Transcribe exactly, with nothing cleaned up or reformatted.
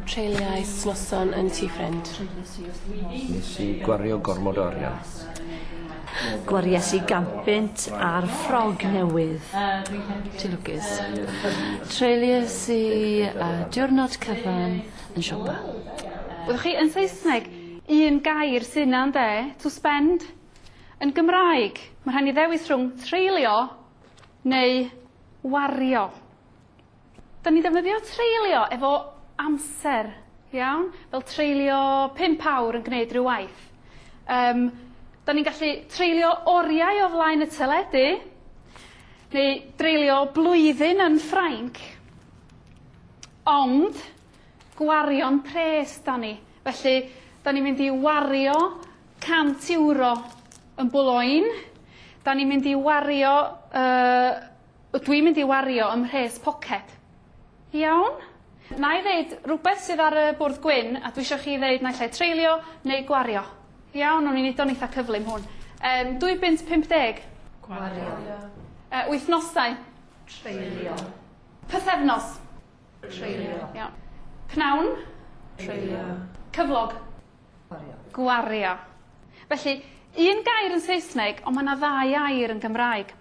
Treuliais noson yn tŷ ffrind. Nes i gwario gormod o arian. Gwaries i gant punt ar ffrog newydd. Ti'n lwcus. Treuliais i uh, diwrnod cyfan yn siopa. Wyddoch chi, yn Saesneg, un gair sy'n 'na ynde, to spend. Yn Gymraeg, mae rhaid ni ddewis rhwng treulio neu wario. Da ni ddefnyddio treulio efo amser, iawn? Fel treulio pump awr yn gwneud rhyw waith. Um, da ni'n gallu treulio oriau o flaen y teledu, neu dreulio blwyddyn yn Ffrainc, ond gwario'n pres da ni. Felly, da ni'n mynd i wario cant euro yn Boulogne. Da ni'n mynd i wario, uh, dwi'n mynd i wario ym mhres poced. Iawn? Na i ddeud rhywbeth sydd ar y bwrdd gwyn, a dwi eisiau chi ddeud naill ai treulio neu gwario. Iawn, o'n i'n neud o'n eitha cyflym hwn. Um, dwy bunt pump deg. Gwario. Uh, wythnosau. Treulio. Pythefnos. Treulio. Iawn. Pnawn. Treulio. Cyflog. Gwario. Gwario. Felly, un gair yn Saesneg, ond mae yna ddau air yn Gymraeg.